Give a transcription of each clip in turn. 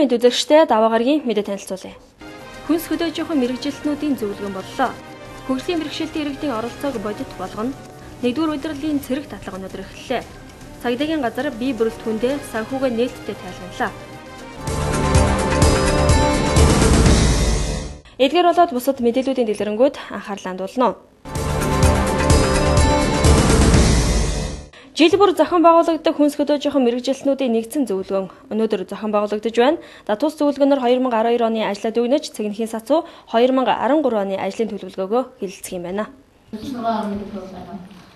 мэд үзэгчтэй даваа гарагийн мэдээ танилцуулъя. Хүнс хөдөөжийнхэн мэрэгжилтнүүдийн зөвлөгөөн боллоо. Хөгжлийн бэрхшээлтэй иргэдийн оролцоог бодит болгоно. Нэгдүгээр удирлын цэрэг татлага өнөөдөр эхэллээ. Цагдаагийн газар бие бүрэлдэхүүндээ санхүүгээ нээлттэй тайлбарлаа. Эдгээр болоод бусад мэдээллүүдийн дэлгэрэнгүй анхаарлаа хандуулна. Жил бүр зохион байгуулагддаг хүнс хөдөөжийнхэн мэрэгжилтнүүдийн нэгдсэн зөвлөгөөн өнөөдөр зохион байгуулагдаж байна. Тус зөвлөгөөнөөр 2012 оны ажлаа дүгнэж цэгнэхийн сацуу 2013 оны ажлын төлөвлөгөөгөө хэлэлцэх юм байна.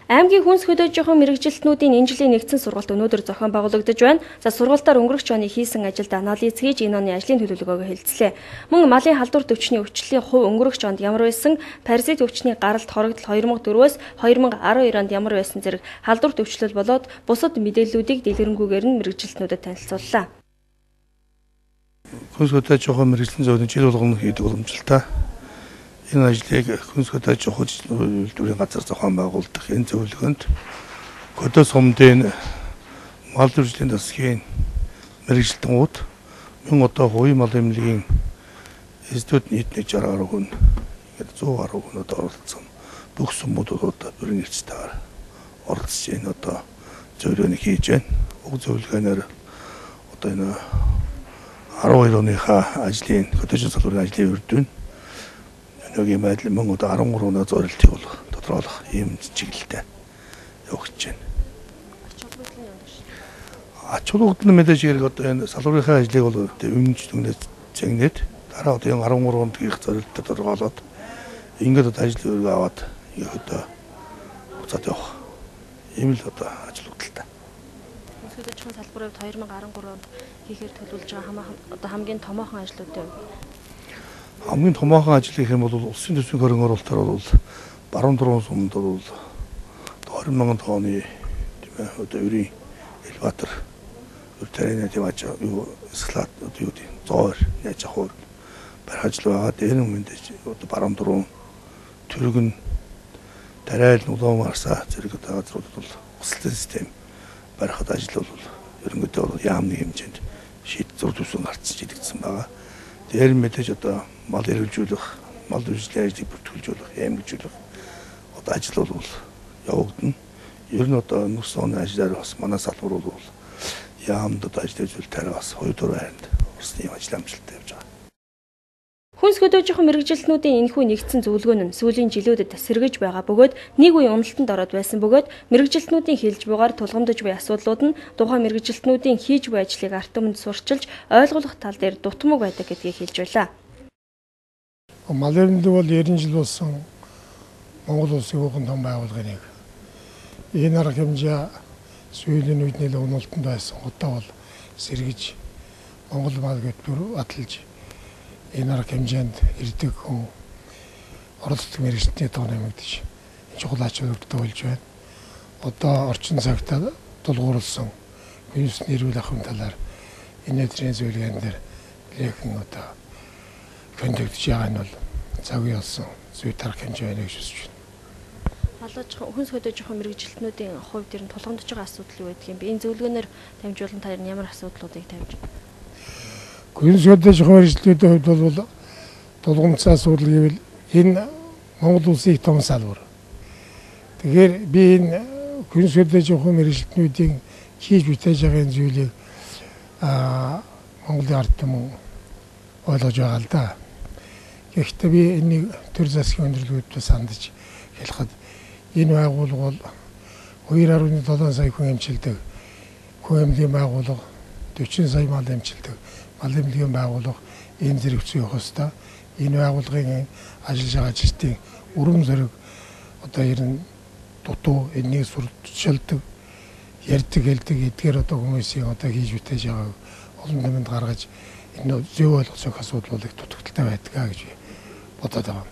Аймгийн хүнс хөдөөжийнхэн мэрэгжилтнүүдийн энэ жилийн нэгдсэн сургалт өнөөдөр зохион байгуулагдаж байна. Сургалтаар өнгөрөх оны хийсэн ажилд анализ хийж энэ оны ажлын төлөвлөгөөгөө хэлэлцлээ. Мөн малын халдвар төвчний өвчлөлийн хувь өнгөрөх онд ямар байсан, паразит өвчний гаралт хорогдол 2004-өөс 2012 онд ямар байсан зэрэг халдвар төвчлөл болоод бусад мэдээллүүдийг дэлгэрэнгүйгээр нь мэрэгжилтнүүдэд танилцууллаа. Хүнс хөдөөжийнхэн мэрэгжилтийн зөвлөлийн жил болгоно хийдэг уламжлалтай. Энэ ажлыг хүнс хөдөөжийнхэн үйлдвэрийн газар зохион байгуулдаг энэ зөвлөгөөнд хөдөө сумдын мал төржлийн засгийн мэрэгжилтнүүд мөн одоо хувийн мал эмнэлгийн эсдүүд нийтний 60 гаруй хүн 100 гаруй хүнүүд оролцсон бүх сумуудад бүрэн нэрцтэйгээр оролцож энэ одоо зөвлөгөөнийг хийж байна. Уг зөвлөгөөнөөр одоо энэ 12 оныхаа ажлын хөдөөжин салбарын ажлын үрдүн Өгийн байдал мөн одоо 13 оноо зорилтыг бол тодорхойлох ийм чиглэлтэй явагдаж байна. Ач холбогдол мэдээж хэрэг одоо энэ салбарынхаа ажлыг бол өмнөж дүнээс зэгнээд дараа одоо 13 онд хийх зорилттой тодорхойлоод ингээд одоо ажил өргөө аваад одоо буцаад явах ийм л одоо ач холбогдолтой. Хүнс хөдөөжийн салбарын 2013 онд хийхээр төлөвлөж байгаа одоо хамгийн томоохон ажлуудтай хамгийн томоохон ажил гэх юм бол улсын төсвийн хөрөнгө оруулалтаар бол баруун дуруун сумд бол 20,000 тонны тийм ээ одоо ерийн элеватор өртөрийн тийм аж юу эсгэлат одоо юу тийм зоор яаж авах барих ажил байгаа. Дээр нь мэдээж одоо баруун дуруун төргөн тарайл улаан марсаа зэрэг одоо газруудад бол усалтай систем барихад ажил бол ерөнхийдөө бол яамны хэмжээнд шийд зур төсвөн гарцж идэгдсэн байгаа. Дээр мэдээж одоо мал эргэлжүүлэх, мал үйлчлэлийн ажлыг бүртгүүлжүүлэх, эмгэлжүүлэх одоо ажил бол явагдана. Ер нь одоо өнгөрсөн оны ажлаар бас манай салбар бол яамд одоо ажил үзүүлэлтээр бас 2-4 хайранд урсны ажил амжилттай явж байгаа. Хүнс хөдөөжийнхэн мэрэгжилтнүүдийн энэхүү нэгдсэн зөвлөгөөн нь сүүлийн жилүүдэд сэргэж байгаа бөгөөд нэг үе уналтанд ороод байсан бөгөөд мэрэгжилтнүүдийн хэлж бугаар тулгамдж буй асуудлууд нь тухайн мэрэгжилтнүүдийн хийж буй ажлыг арт түмэнд сурчилж ойлгох тал дээр дутмаг байдаг гэдгийг хэлж байлаа. Мал эрдэнэ бол 90 жил болсон Монгол улсын хүүхэн том байгууллагын нэг. Энэ арга хэмжээ сүүлийн үед нэлээд уналтанд байсан. Одоо бол сэргэж Монгол мал гэтлүүр баталж энэ арга хэмжээнд ирдэг хүн оролцдог мэрэгчдийн тоо нэмэгдэж чухал ач холбогдолтой болж байна. Одоо орчин цагтаа тулгуурласан вирус нэрвэл ахын талаар энэ өдрийн зөвлөгөөн дээр лехэн одоо контактж байгаа нь бол цагийн болсон зүй тарах хэмжээ байна гэж үзэж байна. Хүнс хөдөөжийнхэн мэрэгжилтнүүдийн хувьд ер нь тулгамдж байгаа асуудал юу гэдэг юм бэ? Энэ зөвлөгөөнөөр дамжуулан та ямар асуудлуудыг тавьж байна? Хүнс хөдөөжийнхэн мэрэгжилтнүүдийн хувьд бол тулгамдсан асуудал гэвэл энэ Монгол улсын том салбар. Тэгэхээр би энэ хүнс хөдөөжийнхэн мэрэгжилтнүүдийн хийж бүтээж байгаа зүйлийг Монголын ард түмэн ойлгож байгаа л да. Гэхдээ би энийг төр засгийн өндөрлгөөдөө сандаж хэлэхэд энэ байгууллага бол 2.7 сая хүн эмчилдэг хүн эмнэлгийн байгууллага 40 сая мал эмчилдэг мал эмнэлгийн байгууллага энэ зэрэг зүй явах ёстой. Энэ байгууллагын ажиллаж байгаа ажилтнуудын өрөм зориг одоо ер нь дутуу энийг сурталчилдаг ярьдаг хэлдэг эдгээр одоо хүмүүсийн одоо хийж бүтээж байгааг олон нэмэнд гаргаж энэ зөв ойлгох асуудал бол их дутагдaltaй байдаг гэж бодоод байгаа.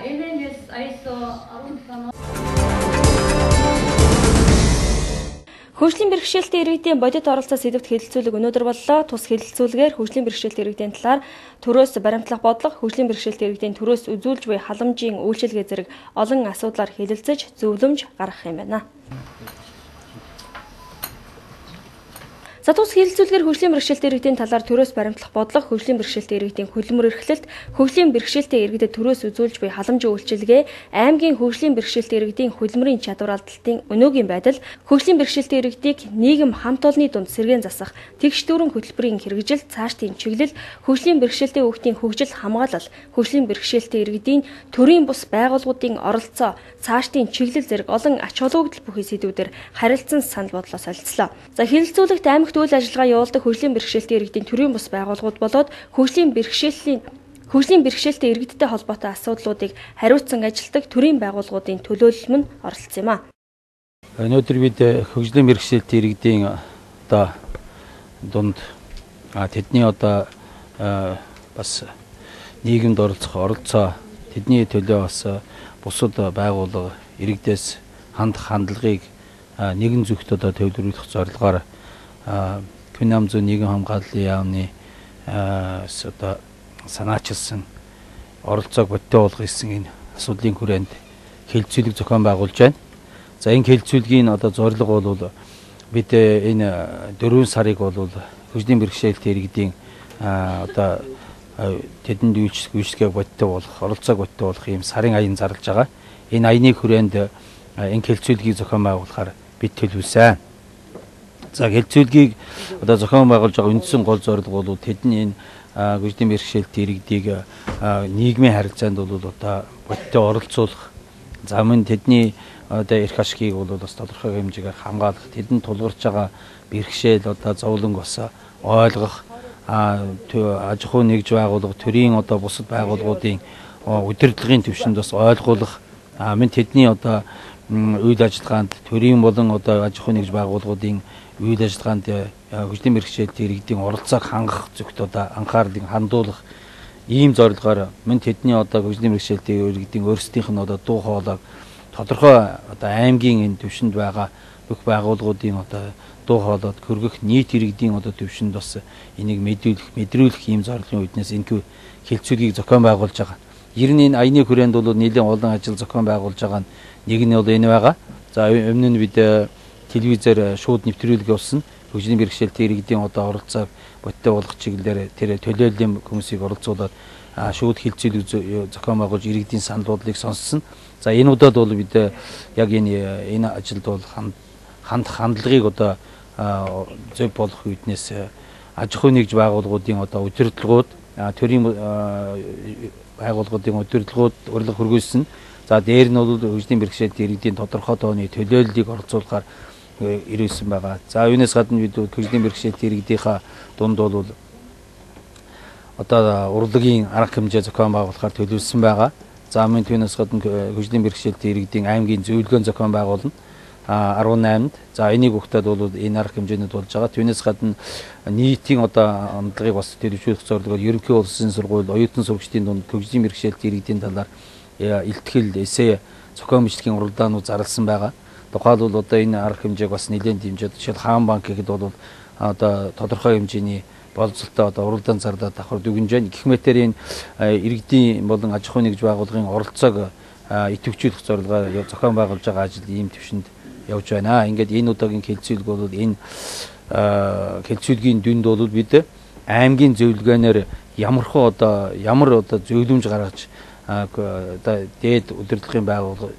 NNS ISO 17 Хөгжлийн бэрхшээлтэй иргэдийн бодит оролцоо сэдвт хэлэлцүүлэг өнөөдөр боллоо. Тус хэлэлцүүлгээр хөгжлийн бэрхшээлтэй иргэдийн талаар төрөөс баримтлах бодлого, хөгжлийн бэрхшээлтэй иргэдийн төрөөс үзүүлж буй халамжийн үйлчилгээ зэрэг олон асуудлаар хэлэлцэж зөвлөмж гаргах юм байна. За тус хэлэлцүүлгээр хөгжлийн бэрхшээлтэй иргэдийн талаар төрөөс баримтлах бодлого, хөгжлийн бэрхшээлтэй иргэдийн хөдөлмөр эрхлэлт, хөгжлийн бэрхшээлтэй иргэдэд төрөөс үзүүлж буй халамжийн үйлчилгээ, аймгийн хөгжлийн бэрхшээлтэй иргэдийн хөдөлмөрийн чадвар алдалтын өнөөгийн байдал, хөгжлийн бэрхшээлтэй иргэдийг нийгэм хамт олонны дунд сэргээн засах, тэгш дүүрэн хөтөлбөрийн хэрэгжил, цаашдын чиглэл, хөгжлийн бэрхшээлтэй хүүхдийн хөгжил хамгаалал, хөгжлийн бэрхшээлтэй иргэдийн төрийн бус байгууллагуудын оролцоо, цаашдын чиглэл зэрэг олон ач холбогдол бүхий сэдвүүдээр харилцан санал бодлоо солилцлоо. За хэлэлцүүлэгт аймагт үйл ажиллагаа явуулдаг хөгжлийн бэрхшээлтэй иргэдийн төрийн бус байгууллагууд болоод хөгжлийн бэрхшээлтэй иргэдтэй холбоотой асуудлуудыг хариуцсан ажилтдаг төрийн байгууллагуудын төлөөлөл мөн оролцсон юм а. Өнөөдөр бид хөгжлийн бэрхшээлтэй иргэдийн одоо дунд тэдний одоо бас нийгэмд оролцоо тэдний төлөө бас бусад байгууллага иргэдээс хандлагыг нэгэн зүгт одоо төвлөрүүлэх зорилгоор Хүн ам зүйн нийгэм хамгааллын яамны одоо санаачилсан оролцоог бодтой болгох гэсэн энэ асуудлын хүрээнд хэлэлцүүлэг зохион байгуулж байна. За энэ хэлэлцүүлгийн одоо зорилго бол бид энэ 4 сарыг бол хөгжлийн бэрхшээлтэй иргэдийн одоо тэдэнд үйлчлэгийг бодтой болох, оролцоог бодтой болох ийм сарын аян зарлж байгаа. Энэ аяны хүрээнд энэ хэлэлцүүлгийг зохион байгуулахаар бид төлөвлөсөн. За хэлэлцүүлгийг одоо зохион байгуулж байгаа үндсэн гол зорилго бол тэдний энэ хөгжлийн бэрхшээлтэй иргэдийг нийгмийн харилцаанд бол одоо бодтой оролцуулах, за мөн тэдний одоо эрх ашгийг бол бас тодорхой хэмжээгээр хамгаалах, тэдэнд тулгарч байгаа бэрхшээл одоо зовлонг бас ойлгох, аж ахуй нэгж байгууллага, төрийн одоо бусад байгууллагуудын удирдлагын түвшинд бас ойлгуулах, мөн тэдний одоо үйл ажиллагаанд төрийн болон одоо аж ахуй нэгж байгууллагуудын үйл ажиллагаанд хөгжлийн бэрхшээлтэй иргэдийн оролцоог хангах зөвхөн одоо анхаарлыг хандуулах ийм зорилгоор мөн тэдний одоо хөгжлийн бэрхшээлтэй иргэдийн өөрсдийнх нь одоо дуу хоолойг тодорхой одоо аймгийн энэ түвшинд байгаа бүх байгууллагуудын одоо дуу хоолойд хөргөх нийт иргэдийн одоо түвшинд бас энийг мэдрүүлэх ийм зорилгын үүднээс энэ хэлэлцүүлгийг зохион байгуулж байгаа. Ер нь энэ аяны хүрээнд бол нэлээд олон ажил зохион байгуулж байгаа нэг нь бол энэ байгаа. За өмнө нь бид телевизээр шууд нэвтрүүлэг явуулсан. Хөгжлийн бэрхшээлтэй иргэдийн одоо оролцоог бодтой болгох чиглэлээр тэр төлөөллийн хүмүүсийг оролцуулаад шууд хэлэлцүүлэг зохион байгуулж иргэдийн санал бодлыг сонссон. За энэ удаад бол бид яг энэ ажилд бол хандлагыг одоо зөв болох үүднээс аж ахуй нэгж байгууллагуудын одоо удирдлагууд, төрийн байгууллагуудын удирдлагууд урилга хөргүүлсэн. За дээр нь бол хөгжлийн бэрхшээлтэй иргэдийн тодорхой тооны төлөөллийг оролцуулахаар ирүүлсэн байгаа. За үүнээс гадна бид хөгжлийн бэрхшээлтэй иргэдийнхаа дунд бол одоо урлагийн арга хэмжээ зохион байгуулахаар төлөвлөсөн байгаа. За мөн түүнээс гадна хөгжлийн бэрхшээлтэй иргэдийн аймгийн зөвлөгөөн зохион байгуулна 18-нд. За энийг өгтөд бол энэ арга хэмжээнүүд болж байгаа. Түүнээс гадна нийтийн одоо хандлагыг бас төлөвшүүлэх зорилгоор ерөнхий улсын сургууль, оюутан сурагчдын дунд хөгжлийн бэрхшээлтэй иргэдийн талаар илтгэл, эссе, зохион бичлэгийн уралдаанууд зарласан байгаа. Тухайлбал одоо энэ арга хэмжээг бас нэлээд дэмжиж, жишээл хаан банк гэхэд бол одоо тодорхой хэмжээний боловсролтой одоо уралдаан зарлаад давхар дүгнж байна. Гэх мэтээр энэ иргэдийн болон аж ахуй нэгж байгууллагын оролцоог идэвхжүүлэх зорилгоор зохион байгуулж байгаа ажил ийм төвшөнд явж байна. Ингээд энэ удаагийн хэлэлцүүлэг бол энэ хэлэлцүүлгийн дүнд бол бид аймгийн зөвлөгөөнөөр ямар зөвлөмж гаргаж одоо дээд удирдлагын байгууллага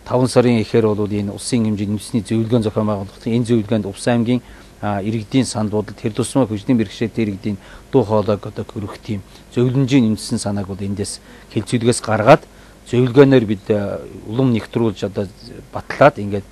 5 сарын эхээр бол энэ улсын хэмжээний үндэсний зөвлөгөөн зохион байгуулах. Энэ зөвлөгөөнд Увс аймгийн иргэдийн санал бодолд тэр тусмаа хөгжлийн бэрхшээлтэй иргэдийн дуу хоолойг одоо хөрөх тийм зөвлөмжийн үндэсний санааг бол эндээс хэлэлцүүлгээс гаргаад зөвлөгөөнөөр бид улам нэгтрүүлж одоо батлаад ингээд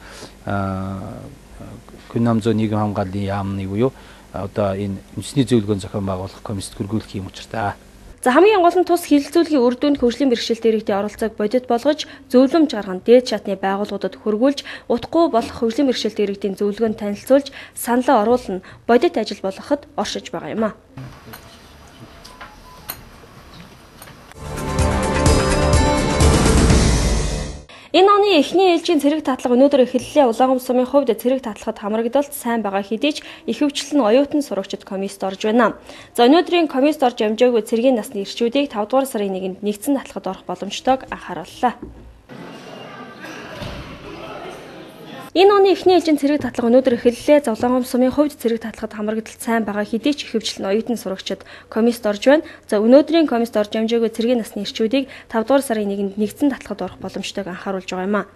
Хүн ам зүйн нийгэм хамгааллын яамны буюу одоо энэ үндэсний зөвлөгөөн зохион байгуулах комиссд хөргүүлэх юм учиртай. За хамгийн гол нь тус хэлэлцүүлгийн үр дүнд хөгжлийн бэрхшээлтэй иргэдийн оролцоог бодит болгож зөвлөмж гарган дээд шатны байгууллагуудад хөргүүлж утгагүй болох хөгжлийн бэрхшээлтэй иргэдийн зөвлөгөөнд танилцуулж саналаа оруулна бодит ажил болгоход оршиж байгаа юм а. Энэ оны эхний ээлжийн цэрэг татлага өнөөдөр эхэллээ. Улаанбаатар сумын хувьд цэрэг татлагад хамрагдалт сайн байгаа хэдий ч ихэвчлэн оюутан сурагчид комиссд орж байна. За өнөөдрийн комиссд орж амжаагүй цэргийн насны ирчүүдийг 5 дугаар сарын 1-нд нэгдсэн татлагад орох боломжтойг анхаарууллаа. Энэ оны эхний ээлжийн цэрэг татлага өнөөдөр эхэллээ. Зовлонгом сумын хувьд цэрэг татлагад хамрагдалт сайн байгаа хэдий ч ихэвчлэн оюутан сурагчид комист орж байна. За өнөөдрийн комист орж амжаагүй цэргийн насны ирчүүдийг 5 дугаар сарын 1-нд нэгдсэн татлагад орох боломжтойг анхааруулж байгаа юм а.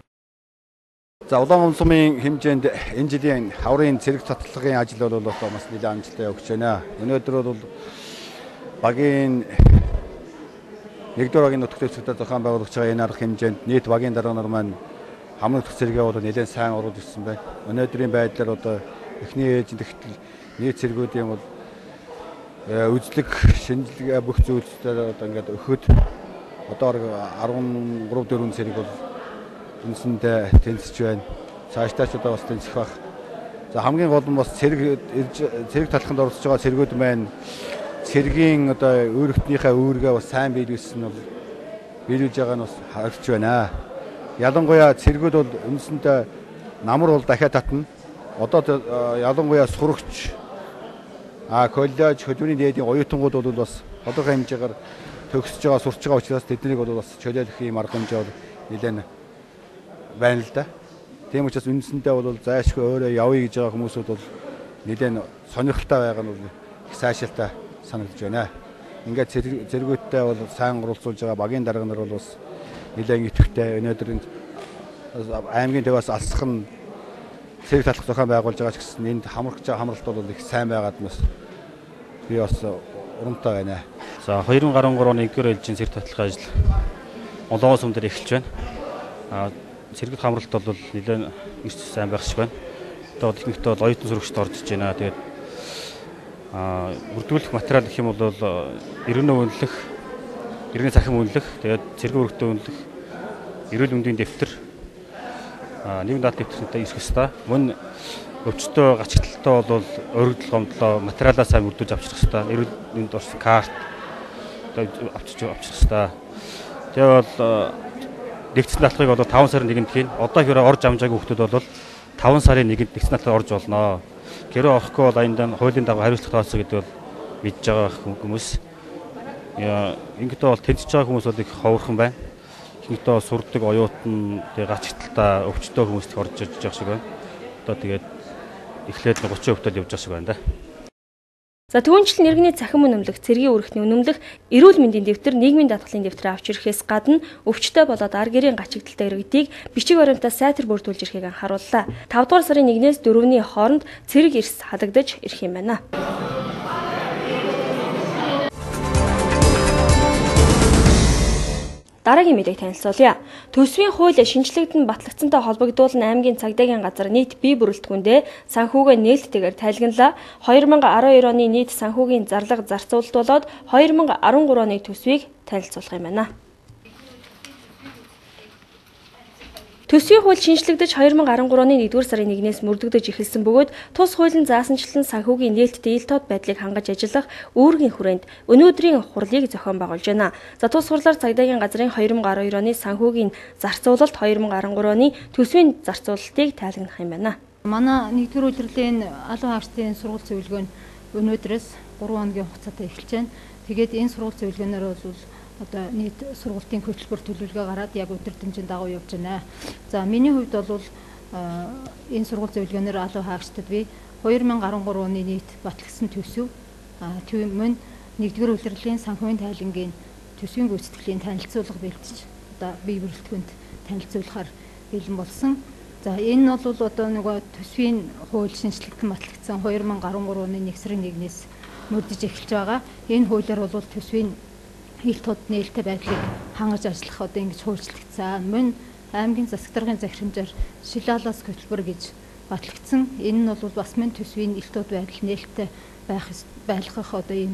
За Улаангом сумын хэмжээнд энэ жилийн хаврын цэрэг татлагын ажил бол бас нэлээд амжилттай явж байна. Өнөөдөр бол багийн 1-р багийн нутагт цэгтэй зохион байгуулагч байгаа энэ арга хэмжээнд нийт багийн дарга нар маань хамрын нутаг цэрэгээ бол нэлээд сайн оруулж ирсэн байна. Өнөөдрийн байдлаар эхний ээлжинд тэгтэл нийт цэргүүдийн бол үзлэг, шинжилгээ бүх зүйлсээр ингээд өгөхөд одоо 13-4 цэрэг бол үндсэндээ тэнцэж байна. Цаашдаа ч бас тэнцэх байх. За хамгийн гол нь бас цэрэг талханд оролцож байгаа цэргүүд маань цэргийн өөрөختнийхээ үүргээ бас сайн биелүүлсэн нь биелүүлж байгаа нь бас харагдж байна. Ялангуяа цэргүүд бол үндсэндээ намар бол дахиад татна. Одоо ялангуяа сурагч коллеж хөдөлмөрийн дээдийн оюутангууд бол бас тодорхой хэмжээгээр төгсөж байгаа, сурч байгаа учраас тэднийг бол бас чөлөөлөх юм арга хэмжээ бол нэлээд байна л да. Тийм учраас үндсэндээ бол зайлшгүй өөрөө явъя гэж байгаа хүмүүсүүд бол нэлээд сонирхолтой байгаа нь бол их сайшаалтай санагдаж байна. Ингээд цэргүүдтэй бол сайн оролцуулж байгаа багийн дарга нар бол бас нэлээд идэвхтэй. Өнөөдөр аймгийн төвөөс алсхан цэрэг татлах зохион байгуулж байгаа ч гэсэн энд хамрагч хамралт бол их сайн байгаад бас би бас урамтай байна. За 2013 оны 1-р ээлжийн цэрэг татлахын ажил Улаангом сум дээр эхэлж байна. Цэрэг хамралт бол нэлээд эрс сайн байх шиг байна. Одоо техниктэй бол оюутан сурагчид орж иж байна. Тэгээд бүрдүүлэх материал гэх юм бол иргэнэ үнэлэх, иргэнэ цахим үнэлэх, тэгээд цэрэг өргөдөө үнэлэх, эрүүл мэндийн дэвтэр, нэгэн даалт дэвтэртэй ирэх ёстой. Мөн өвчтөө гачигталтаа бол өргөдөл гомдлоо материалаа сайн бүрдүүлж авчрах ёстой. Эрүүл мэнд орс карт авчрах ёстой. Тэгээд бол нэгдсэн татлахыг бол 5 сарын 1-нд хийн. Одоо хэрэг орж амжаагүй хүмүүс бол 5 сарын 1-нд нэгдсэн татлахыг орж болно. Гэрээ орохгүй бол аяндаа хуулийн дагуу хариуцлага тооцоо гэдэг бол мэдж байгаа хүмүүс. Ингэдээ бол тэнцэж байгаа хүмүүс бол их ховорхон байна. Ихэнхдээ сурдаг оюутан, тэгээ гачигталтаа өвчтөө хүмүүст орж иж байгаа шиг байна. Одоо тэгээд эхлээд 30% явж байгаа шиг байна да. За түүнчлэн иргэний цахим үнэмлэх, цэргийн өргөтний үнэмлэх, эрүүл мэндийн дэвтэр, нийгмийн даатгалын дэвтэр авч ирэхээс гадна өвчтөй болоод ар гэрийн гачигдaltaй иргэдийг бичиг баримтаа сайтар бүрдүүлж ирэхийг анхаарууллаа. 5 дугаар сарын 1-ээс 4-ний хооронд цэрэг эрс хадагдаж ирэх юм байна. Дараагийн мэдээг танилцуулъя. Төсвийн хууль шинжлэгдэн батлагдсантай холбогдуулан аймгийн цагдаагийн газар нийт бие бүрэлдэхүүндээ санхүүгээ нээлттэйгээр тайлгналаа. 2012 оны нийт санхүүгийн зарлага зарцуулалт болоод 2013 оны төсвийг танилцуулах юм байна. Төсвийн хууль шинжлэгдэж 2013 оны 1-р сарын 1-ээс мөрдөгдөж эхэлсэн бөгөөд тус хуулийн заасанчлан санхүүгийн нээлттэй ил тод байдлыг хангаж ажиллах үүргийн хүрээнд өнөөдрийн хурлыг зохион байгуулж байна. За тус хурлаар цагдаагийн газрын 2012 оны санхүүгийн зарцуулалт 2013 оны төсвийн зарцуулалтыг тайлгнах юм байна. Манай 1-р удирлын албан хаагчдын сургууль зөвлөгөө нь өнөөдрөөс 3 хоногийн хугацаатай эхэлж байна. Тэгээд энэ сургууль зөвлөгөөнөөр бол одоо нийт сургуулийн хөтөлбөр төлөвлөгөө гараад яг өдөр дэмжин дагуу явж байна. За миний хувьд бол энэ сургууль зөвлөгөөнөөр албан хаагчдад би 2013 оны нийт батлагдсан төсөв мөн 1-р удирлын санхүүгийн тайлангийн төсвийн гүйцэтгэлийн танилцуулга бэлтэж одоо бие бүрэлдэхүүнд танилцуулахаар бэлэн болсон. За энэ бол одоо нөгөө төсвийн хууль шинжлэгдэн батлагдсан 2013 оны 1 сарын 1-ээс мөрдөж эхэлж байгаа. Энэ хуулиар бол төсвийн ил тод нээлттэй байдлыг хангаж ажиллах одоо ингэж хуульчлагдсан. Мөн аймгийн засаг даргын захирамжаар шилалаас хөтөлбөр гэж батлагдсан. Энэ нь бол бас мөн төсвийн ил тод байдал нээлттэй байлгах одоо ийм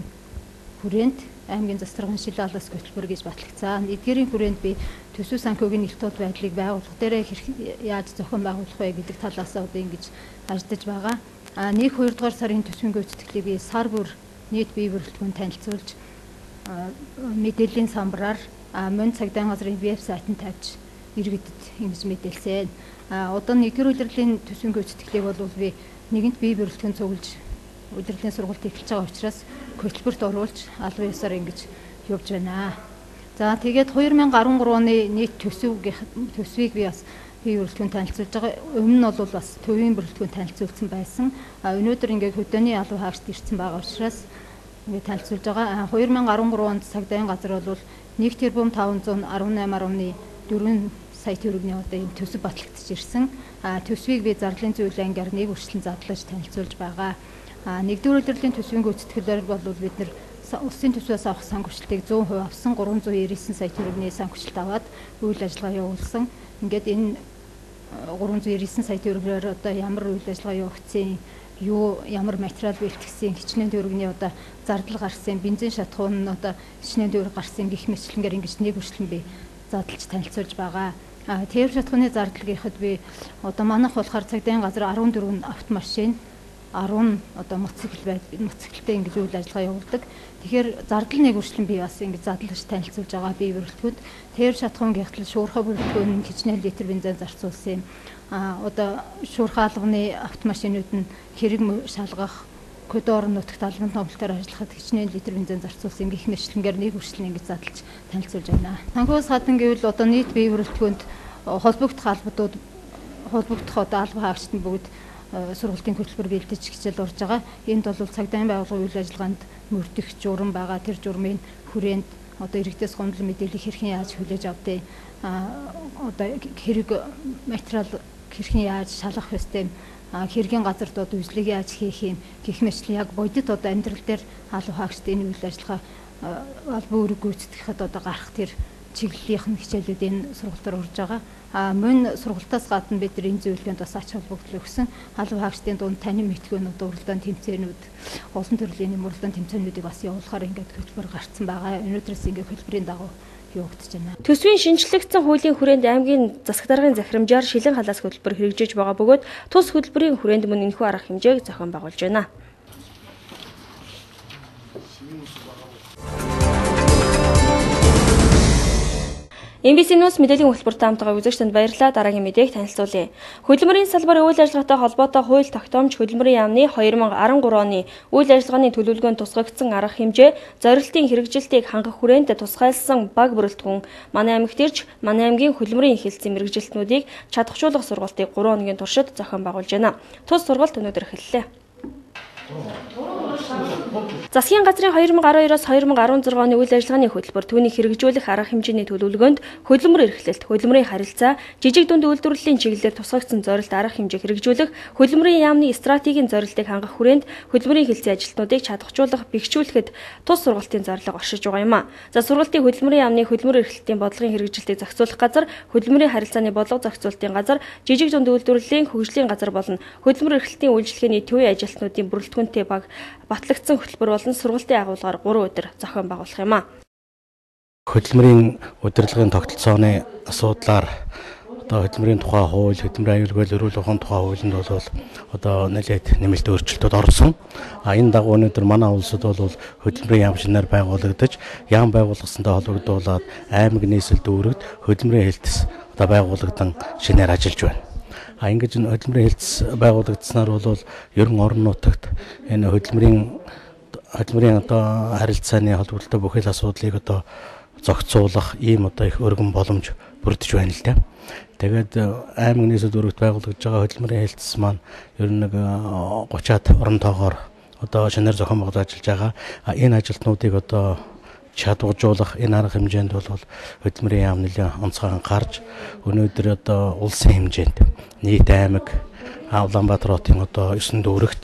хүрээнд аймгийн засаг даргын шилалаас хөтөлбөр гэж батлагдсан. Эдгээрийн хүрээнд би төсөв санхүүгийн ил тод байдлыг байгуулах дээрээ яаж зохион байгуулах вэ гэдэг талаас одоо ингэж ажиллаж байгаа. 1-2 дугаар сарын төсвийн гүйцэтгэлийг би сар бүр нийт бие бүрэлдэхүүн танилцуулж мэдээллийн самбараар мөн цагдаагийн газрын веб сайтанд тавьж иргэдэд ингэж мэдээлсэн. Одоо 1-р удирлын төсвийн гүйцэтгэлийг бол би нэгэнт бие бүрэлдэхүүн цуглаж удирлын сургалт эхэлж байгаа учраас хөтөлбөрт оруулж албан ёсоор ингэж явж байна. За тэгээд 2013 оны нийт төсвийг би бас бие бүрэлдэхүүн танилцуулж байгаа. Өмнө нь бол бас төвийн бүрэлдэхүүн танилцуулсан байсан. Өнөөдөр ингээд хөдөөний албан хаагчд ирсэн байгаа учраас ингээд танилцуулж байгаа. 2013 онд цагдаагийн газар бол 1 тэрбум 518.4 сая төгрөгийн одоо ийм төсөв батлагдж ирсэн. Төсвийг би зарлалын зүйл ангиар нэг үргэлжлэн задлаж танилцуулж байгаа. Нэгдүгээр удирлын төсвийн гүйцэтгэлээр бол бид нэр улсын төсвөөс авах сан хүчлэлтийг 100% авсан 399 сая төгрөгийн сан хүчлэлт аваад үйл ажиллагаа явуулсан. Ингээд энэ 399 сая төгрөгөөр одоо ямар үйл ажиллагаа явагдсан, ямар материал бэлтгэсэн, хичнээн төгрөгийн одоо зардал гарсан, бензин шатхуун нь одоо хичнээн төгрөг гарсан гэх мэтлэнгээр ингэж нэг үргэлжлэн би задлж танилцуулж байгаа. Тэр шатхууны зардал гэхэд би одоо манайх болохоор цагдаагийн газар 14 автомашин 10 одоо моцикл ингэж үйл ажиллагаа явуулдаг. Тэгэхээр зардал нэг үргэлжлэн би бас ингэж задлаж танилцуулж байгаа бие бүрэлдэхүүнд. Тэр шатхуун гихтэл шуурхай бүрэлдэхүүн хичнээн литр бензин зарцуулсан. Одоо шуурхай албаны автомашинууд нь хэрэг шалгах, кодор нутагт албан томлолтоор ажиллахад хичнээн литр бензин зарцуулсан гэх мэтлэнгээр нэг үргэлжлэн ингэж задлаж танилцуулж байна. Санхүүс гадна гэвэл одоо нийт бие бүрэлдэхүүнд холбогдох албадууд одоо албан хаагчид нь бүгд сургалтын хөтөлбөр бэлдэж хичээл урж байгаа. Энд бол цагдаагийн байгууллагын үйл ажиллагаанд мөрдөх журам байгаа. Тэр журмын хүрээнд одоо иргэдээс гомдол мэдээлэл хэрхэн яаж хүлээж авдээ, одоо хэрэг материал хэрхэн яаж шалгах ёстой, хэргийн газарт одоо үзлэг яаж хийх юм гэх мэтлэн яг бодит одоо амьдрал дээр албан хаагчид энэ үйл ажиллагаа албан үүрэг гүйцэтгэхэд одоо гарах тэр чиглэлийн хичээлүүд энэ сургалтаар урж байгаа. Мөн сургалтаас гадна бид энэ зөвлөгөөнд бас ач холбогдол өгсөн. Албан хаагчдын дунд танин мэтгүүнүүд, уралдаан тэмцээнүүд, олон төрлийн уралдаан тэмцээнүүдийг бас явуулахаар ингээд хөтөлбөр гарцсан байгаа. Өнөөдрөөс ингээд хөтөлбөрийн дагуу явагдаж байна. Төсвийн шинжлэгдсэн хуулийн хүрээнд аймгийн засаг даргын захирамжаар шилэн халаас хөтөлбөр хэрэгжиж байгаа бөгөөд тус хөтөлбөрийн хүрээнд мөн энэхүү арга хэмжээг зохион байгуулж байна. MBC News мэдээллийн хөтөлбөр таамтайгаа үзэгчдэнд баярлалаа. Дараагийн мэдээг танилцуулъя. Хөдөлмөрийн салбар үйл ажиллагаатай холбоотой хууль тогтоомж хөдөлмөрийн яамны 2013 оны үйл ажиллагааны төлөвлөгөөнд тусгагдсан арга хэмжээ, зорилтын хэрэгжилтийг хангах хүрээнд тусгайлсан баг бүрэлдэхүүн манай аймагт ирж манай аймгийн хөдөлмөрийн эхэлсэн мэргэжилтнүүдийг чадахжуулах сургалтыг 3 хоногийн туршид зохион байгуулж байна. Тус сургалт өнөөдөр эхэллээ. Засгийн газрын 2012-оос 2016 оны үйл ажиллагааны хөтөлбөр түүнийг хэрэгжүүлэх арга хэмжээний төлөвлөгөөнд хөдөлмөр эрхлэлт, хөдөлмөрийн харилцаа, жижиг дунд үйлдвэрлэлийн чиглэлээр тусгагдсан зорилт арга хэмжээ хэрэгжүүлэх, хөдөлмөрийн яамны стратегийн зорилтыг хангах хүрээнд хөдөлмөрийн хэлцээ ажилтнуудыг чадахжуулах, бэхжүүлэхэд тус сургалтын зарлага оршиж байгаа юм а. За сургалтын хөдөлмөрийн яамны хөдөлмөр эрхлэлтийн бодлогын хэрэгжилтийг зохицуулах газар, хөдөлмөрийн харилцааны бодлого зохицуулалтын газар, жижиг дунд үйлдвэрлэлийн хөгжлийн газар болон хөдөлмөр эрхлэлтийн үйлчлэгээний төвийн ажилтнуудын бүрэлдэхүүнтэй баг батлагдсан хөтөлбөр болон сургалтын агуулгаар 3 өдөр зохион байгуулах юм а. Хөдөлмөрийн удирдлагын тогтолцооны асуудлаар одоо хөдөлмөрийн тухай хууль, хөдөлмөрийн аюулгүй эрүүл ухааны тухай хуулинд бол одоо нэлээд нэмэлт өөрчлөлтүүд орсон. Энэ дагуу өнөөдөр манай улсад бол хөдөлмөрийн яам шинээр байгуулагдаж, яам байгуулгасантай холбогдуулаад аймаг нийслэл дүүрэгт хөдөлмөрийн хэлтс одоо байгуулагдсан шинээр ажиллаж байна. Ингэж хөдөлмөрийн хэлтс байгуулагдсанаар бол ерөн орон нутагт энэ хөдөлмөрийн одоо харилцааны холбоотой бүхэл асуудлыг одоо зохицуулах ийм одоо их өргөн боломж бүрдэж байна л да. Тэгээд аймаг нийслэл дүүрэгт байгуулагдж байгаа хөдөлмөрийн хэлтс маань ер нь нэг 30-аад орон тоогоор одоо шинээр зохион байгуулж ажиллаж байгаа. Энэ ажилтнуудыг одоо чадваржуулах энэ арга хэмжээнд бол хөдөлмөрийн яам нэлээд онцгой анхаарч өнөөдөр одоо улсын хэмжээнд нийт аймаг Улаанбаатар хотын одоо 9 дүүрэгт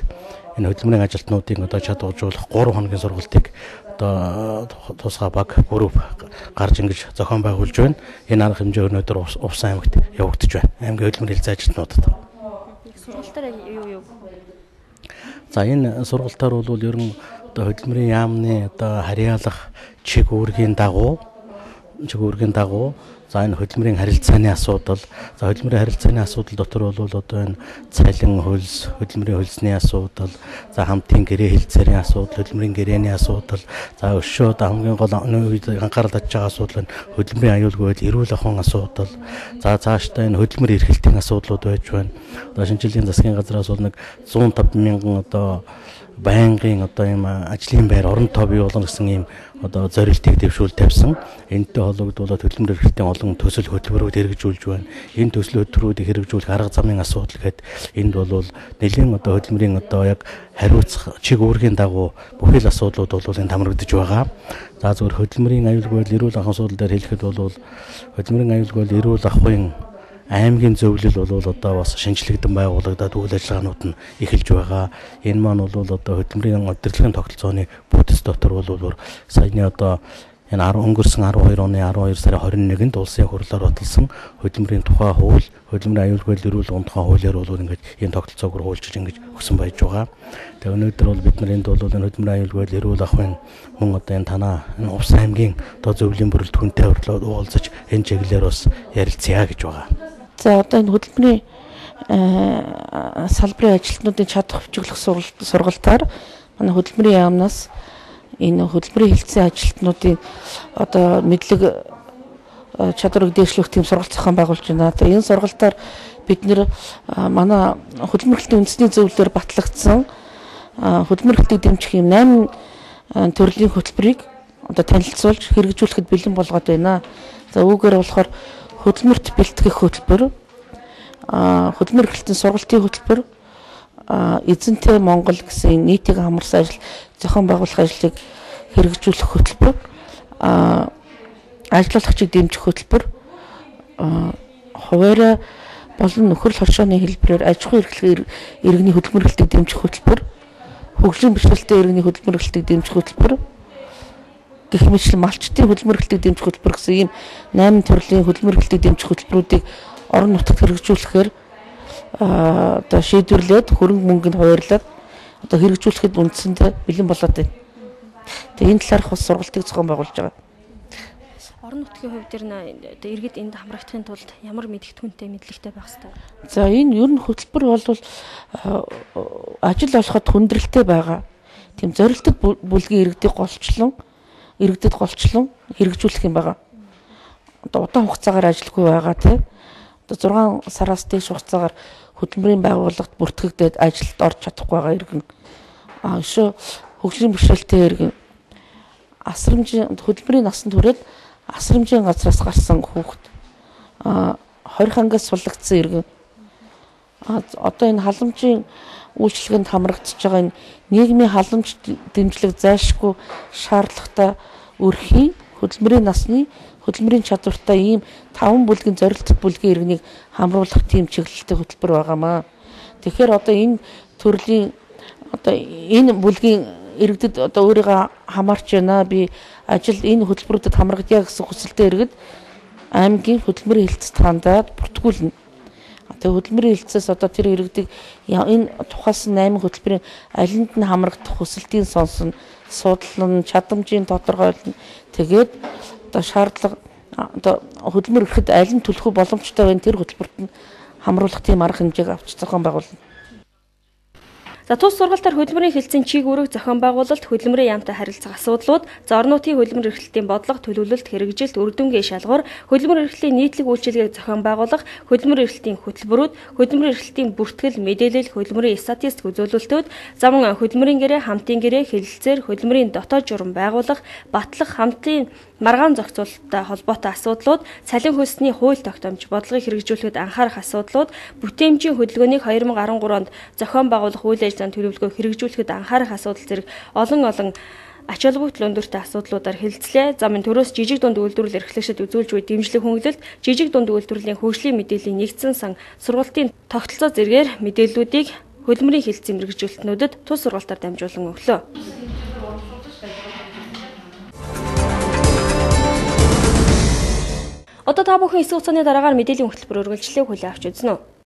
энэ хөдөлмөрийн ажилтнуудыг одоо чадваржуулах 3 хоногийн сургалтыг одоо тусгай баг групп гарч ингэж зохион байгуулж байна. Энэ арга хэмжээ өнөөдөр Увс аймагт явагдаж байна. Аймгийн хөдөлмөрийн хэлцээ ажилтнуудад. Сургалтаар юу? За энэ сургалтаар бол ерөн одоо хөдөлмөрийн яамны одоо харьяалах чиг үүргийн дагуу за энэ хөдөлмөрийн харилцааны асуудал, за хөдөлмөрийн харилцааны асуудал дотор бол одоо энэ цалин хөлс, хөдөлмөрийн хөлсний асуудал, за хамтын гэрээ хэлцээрийн асуудал, хөдөлмөрийн гэрээний асуудал, за өшөө хамгийн гол үед анхаарал татж байгаа асуудал нь хөдөлмөрийн аюулгүй байдал, эрүүл ахуйн асуудал, за цаашдаа энэ хөдөлмөр эрхлэлтийн асуудлууд байж байна. Одоо шинжилгээний засгийн газраас бол нэг 150 мянган одоо байнгын одоо ийм ажлын байр орон тоо бий болгоно гэсэн ийм одоо зорилтыг дэвшүүл тавьсан. Энэтэй холбогдуулаад хөдөлмөр эрхлэлтийн олон төсөл хөтөлбөрүүд хэрэгжүүлж байна. Энэ төсөл хөтөлбөрүүдийг хэрэгжүүлэх арга замын асуудал гэхэд энд бол нэлийн одоо хөдөлмөрийн одоо яг хариуцах чиг үүргийн дагуу бүхэл асуудлууд бол энд хамрагдаж байгаа. За зөвхөн хөдөлмөрийн аюулгүй эрүүл ахуйн асуудал дээр хэлэхэд бол хөдөлмөрийн аюулгүй эрүүл ахуйн аймгийн зөвлөл бол одоо бас шинжлэгдэн байгуулагдаад үйл ажиллагаанууд нь эхэлж байгаа. Энэ маань бол одоо хөдөлмөрийн удирдлагын тогтолцооны бүтц дотор бол саяны одоо энэ өнгөрсөн 12 оны 12 сарын 21-нд улсын хурлаар баталсан хөдөлмөрийн тухай хууль, хөдөлмөрийн аюулгүй эрүүл ухааны тухай хуулиар бол ингэж энэ тогтолцоог хуулжиж ингэж өгсөн байж байгаа. Тэгээ өнөөдөр бол бид нар энд бол энэ хөдөлмөрийн аюулгүй эрүүл ахуйн мөн одоо энэ танаа энэ Увс аймгийн одоо зөвлөлийн бүрэлдэхүүнтэй уулзаж энэ чиглэлээр бас ярилцъя гэж байгаа. За одоо энэ хөдөлмөрийн салбарын ажилтнуудын чадах хөгжүүлэх сургалтаар манай хөдөлмөрийн яамнаас энэ хөдөлмөрийн хилцээний ажилтнуудын одоо мэдлэг чадварыг дээшлүүлэх тийм сургалт зохион байгуулж байна. Тэгээ энэ сургалтаар бид нэр манай хөдөлмөр эрхлэлтийн үндэсний зөвлөлөөр батлагдсан хөдөлмөр эрхлэлтийг дэмжих юм 8 төрлийн хөтөлбөрийг одоо танилцуулж хэрэгжүүлэхэд бэлэн болгоод байна. За үүгээр болохоор хөдөлмөрт бэлтгэх хөтөлбөр, хөдөлмөр эрхлэлтийн сургалтын хөтөлбөр, эзэнтэй Монгол гэсэн нийтийг хамарсан ажил зохион байгуулах ажлыг хэрэгжүүлэх хөтөлбөр, ажиллуулагчийг дэмжих хөтөлбөр, хуваарай болон нөхөрл хоршооны хэлбэрээр аж ахуйн эрхлэх иргэний хөдөлмөр эрхлэлтийг дэмжих хөтөлбөр, хөгжлийн бэрхшээлтэй иргэний хөдөлмөр эрхлэлтийг дэмжих хөтөлбөр, гэх мэтлэн малчтын хөдөлмөр эрхлэлтийг дэмжих хөтөлбөр гэсэн ийм 8 төрлийн хөдөлмөр эрхлэлтийг дэмжих хөтөлбөрүүдийг орон нутагт хэрэгжүүлэхээр одоо шийдвэрлээд хөрөнгө мөнгөнд хуваарлаад одоо хэрэгжүүлэхэд үндсэндээ бэлэн болоод байна. Тэгээ энэ талаарх бас сургалтыг зохион байгуулж байгаа. Орон нутгийн хувьд одоо иргэд энд хамрагдахын тулд ямар мэдгэдэггүнтэй мэдлэгтэй байх ёстой? За энэ ер нь хөтөлбөр бол ажил олоход хүндрэлтэй байгаа. Тийм зорилттой бүлгийн иргэдэд голчлон хэрэгжүүлэх юм байгаа. Одоо удаан хугацаагаар ажилгүй байгаа тийм. Одоо 6 сараас дээш хугацаагаар хөдөлмөрийн байгууллагт бүртгэгдээд ажилд орж чадахгүй байгаа иргэн. Өшөө хөгжлийн бэрхшээлтэй иргэн асрамжийн хөдөлмөрийн насанд хүрээд асрамжийн газраас гарсан хүүхэд 20 ангиас суллагдсан иргэн. Одоо энэ халамжийн үйлчлэгэнд хамрагдаж байгаа энэ нийгмийн халамж дэмжлэг зайлшгүй шаардлагатай өрхийн хөдөлмөрийн насны хөдөлмөрийн чадвартай ийм 5 бүлгийн зорилттой бүлгийн иргэнийг хамруулах тийм чиглэлтэй хөтөлбөр байгаамаа. Тэгэхээр одоо энэ төрлийн одоо энэ бүлгийн иргэдэд одоо өөрийгөө хамаарч байна. Би ажил энэ хөтөлбөрүүдэд хамрагдъя гэсэн хүсэлтэй иргэд аймгийн хөдөлмөрийн хэлтсэд хандаад бүртгүүлнэ. Тэгээ хөдөлмөрийн хэлтсээс одоо тэр иргэдийг энэ тухайлсан 8 хөтөлбөрийн алинд нь хамрагдах хүсэлтийн сонсон, судлан, чадамжийн тодорхойлно. Тэгээд одоо шаардлага одоо хөдөлмөр ирэхэд аль нь төлөх боломжтой байна тэр хөтөлбөрт нь хамруулах тийм арга хэмжээг авч зохион байгуулна. За тус сургалтаар хөдөлмөрийн хэлтсийн чиг үүрэг зохион байгуулалт, хөдөлмөрийн яамтай харилцах асуудлууд, зорнуудын хөдөлмөр эрхлэлтийн бодлого, төлөвлөлт, хэрэгжилт, үр дүнгийн шалгуур, хөдөлмөр эрхлэлийн нийтлэг үйлчилгээг зохион байгуулах, хөдөлмөр эрхлэлтийн хөтөлбөрүүд, хөдөлмөр эрхлэлтийн бүртгэл, мэдээлэл, хөдөлмөрийн статистик үзүүлэлтүүд, зам хөдөлмөрийн гэрээ, хамтын гэрээ, хэлэлцээр, хөдөлмөрийн дотоод журам байгуулах, батлах, хамтын маргаан зохицуулалттай холбоотой асуудлууд, цалин хөлсний хууль тогтоомж бодлогыг хэрэгжүүлэхэд анхаарах асуудлууд, бүтээмжийн хөдөлгөөнийг 2013 онд зохион байгуулах үйл ажиллагааны төлөвлөгөө хэрэгжүүлэхэд анхаарах асуудал зэрэг олон ач холбогдол өндөртэй асуудлуудаар хэлэлцлээ. Замын төрөөс жижиг дунд үйлдвэрлэл эрхлэгчид үзүүлж буй дэмжлэг хөнгөлөлт, жижиг дунд үйлдвэрлэлийн хөгжлийн мэдээллийн нэгдсэн сан сургалтын тогтолцоо зэргээр мэдээллүүдийг хөдөлмөрийн хэлтсийн мэргэжилтнүүдэд тус сургалтаар дамжуулан өглөө. Одоо та бүхэн эсэх хугацааны дараагаар мэдээллийн хөтөлбөр үргэлжлэлийг хүлээн авч үзнэ үү?